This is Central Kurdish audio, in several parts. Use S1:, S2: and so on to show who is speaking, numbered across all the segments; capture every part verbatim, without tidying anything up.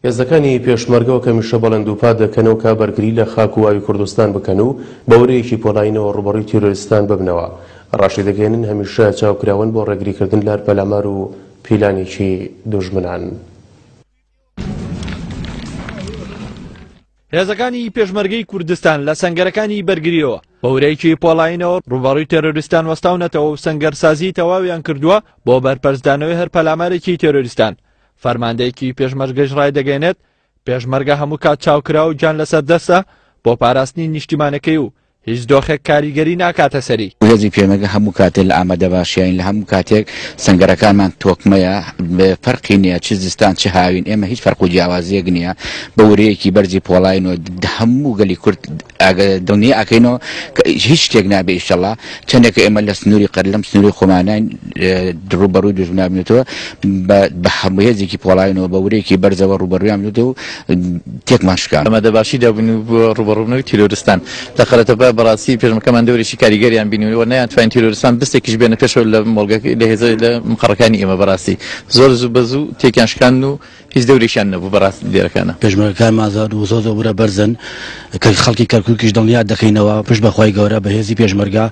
S1: هێزەکانی پێشمەرگەوە کەمیشە بەڵێن دووپات دەکەنەوە کە بەرگری لە خاک و ئاوی کوردستان بکەن و بە ورەیەکی پۆڵایینەوە ڕووبەڕووی تیرۆریستان ببنەوە. ڕاشی دەگەێنن هەمیشە چاوکراون بۆ ڕێگریکردن لە هەر پەلامار و پیلانێکی دوژمنان.
S2: هێزەکانی پێشمەرگەی کوردستان لە سەنگەرەکانی بەرگریەوە بە ورەیەکی پۆڵایینەوە ڕووبەڕووی تێرۆریستان وەستاونەتەوە و سەنگەرسازی تەواویان کردووە بۆ بەرپەرچدانەوەی هەر پەلامارێکی تێرۆریستان. فەرماندەیەکی پێشمەرگەش ڕایدەگەێنێت پێشمەرگە هەموو کات چاوکرا و گیان لەسەر دەستە بۆ پاراستنی نیشتیمانەکەی و هیچ دۆخێک کاریگەری ناکاتە سەری.
S3: هێزی پێشمەرگە هەموو کاتێک لە ئامادەباشیین، لە هەموو کاتێک سەنگەرەکانمان تۆکمەیە، فەرقی نییە چ زستان چ هاوین، ئێمە هیچ فەرق و جیاوازیەک نییە. بە ورەیەکی بەرزی پۆڵاین و هەموو گەلی کورد دڵنیا ئەکەینەوە هیچ شتێک نابێ ئینشەڵڵا. چەندێک ئێمە لە سنووری قەر لەم سنووری خۆمانین ڕووبەڕووی دوژمنان بنێتەوە بە هەموو هێزێکی پۆڵاینەوە بە ورەیەکی بەرزەوە ڕووبەڕوویان بنێتەوە و تێکمان شکان.
S4: ئامادەباشی دابوون بۆ ڕووبەڕووبوونەوەی تیرۆریستان لە قەرەتەپە بەڕاستی پێشمەرگەکەمان دەورێکی کاریگەریان بینیوە و نەیانتوانین تیرۆریستان بستێکیش بێنە پێشەوە لە مۆڵگەکە لە هێزە لە مقەڕەکانی ئێمە. بەڕاستی زۆر زوو بە زوو تێکیان شکاندن و هیچ دەورێکیان نەبوو بەڕاستی لێرەکانە.
S5: پێشمەرگەکانمان زۆر و زۆر زۆر ورە بەرزن کە خەڵکی کەرکووکیش دڵنیا دەکەینەوە پشت بەخوای گەورە بە هێزی پێشمەرگە.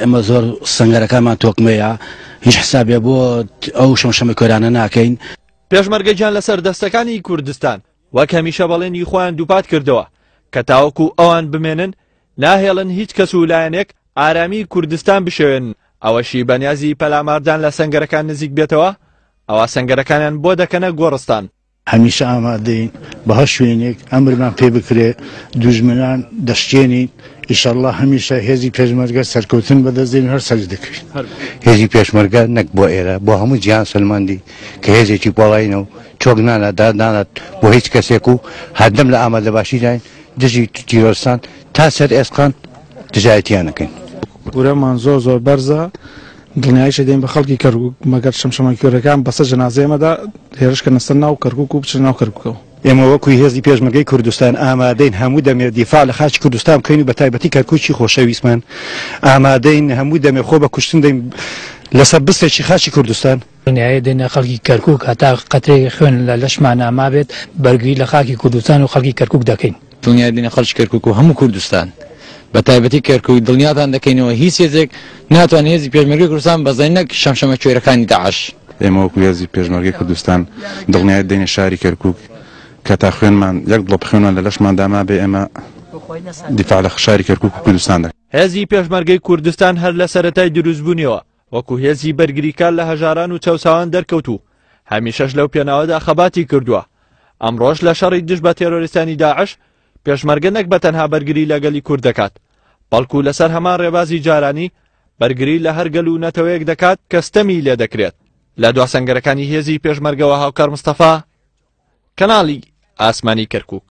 S5: ئێمە زۆر سەنگەرەکانمان تۆکمەیە، هیچ حسابێ بۆ ئەو شەمشەمە کوێرانە ناکەین.
S2: پێشمەرگە گیان لەسەر دەستەکانی کوردستان وەک هەمیشە بەڵێنی خۆیان دووپات کردەوە کە تاوەکو ئەوان بمێنن ناهێڵن هیچ کەس و لایەنێک ئارامی کوردستان بشێوێنن. ئەوەشی بەنیازی پەلاماردان لە سەنگەرەکان نزیک بێتەوە ئەوە سەنگەرەکانیان بۆ دەکەنە گۆڕستان.
S6: هەمیشە ئامادەین بە هەر شوێنێک ئەمرمان پێ بکرێ دوژمنان دەشتێنین. ئینشەڵڵا هەمیشە هێزی پێشمەرگە سەرکەوتن بەدەست دێنین، هەر سەرج دەکەوین.
S7: هێزی پێشمەرگە نەک بۆ ئێرە بۆ هەموو جیهان سەلماندی کە هێزێکی پۆڵایینە و چۆک نانات دانات بۆ هیچ کەسێک و هەردەم لە ئامادەباشیداین دژی تیرۆریستان تا سەر ئێسقان دژایەتیان نەکەین.
S8: ورەمان زۆر زۆر بەرزە، دڵنیاییش دێن بە خەڵکی کەرکووک، مەگەر شەمشەمەکوێرەکان بەسەر جەنازەی ئێمەدا هێرشکەنە سەر ناو کەرکووک و بچنە ناو کەرکووکەوە.
S9: ئێمە وەکوی هێزی پێشمەرگەی کوردستان ئامادەین هەموو دەمێ دیفاع لە خاکی کوردستان بکەین و بە تایبەتی کەرکووکی خۆشەویستمان. ئامادەین هەموو دەمێ خۆ بە کوشتن دەین لەسەر بستێکی خاکی کوردستان.
S10: دڵنیایی دێنە خەڵکی کەرکووک هەتا قەترێک خوێن لە لەشمان ئامابێت بەرگری لە خاکی کوردستان و خەڵکی کەرکووک دەکەین.
S4: دڵنیایی دێنە خەڵکی کەرکووک و هەموو کوردستان بە تایبەتی کەرکووک دڵنیاتان دەکەینەوە هیچ هێزێک ناتوانێت هێزی پێشمەرگەی کوردستان بەزەین نەک شەمشەمە کوێرەکانی داعش.
S11: ئێمە وەکو هێزی پێشمەرگەی کوردستان دڵنیایی دێنە شاری کەرکووک کە تا خوێنمان یەک دڵۆپ خوێنمان لە لەشماندا مابێ ئێمە دیفاع لە شاری کەرکووک و کوردستان دەکەین.
S2: هێزی پێشمەرگەی کوردستان هەر لە سەرەتای دروستبوونیەوە وەکو هێزی بەرگریکار لە هەژاران و چەوساوان دەرکەوت و هەمیشەش لەو پێناوەدا خەباتی کردووە. ئەمڕۆژ لە شەڕی دژ بە تێرۆریستانی داعش پێشمەرگە نەک بە تەنها بەرگری لە گەلی کورد دەکات، بەڵکو لەسەر هەمان ڕێبازی جارانی بەرگری لە هەر گەل و نەتەوەیەک دەکات کە ستەمی لێ دەکرێت. لە دوا سەنگەرەکانی هێزی پێشمەرگەوە هاوکار مستەفا، کەناڵی ئاسمانی کەرکووک.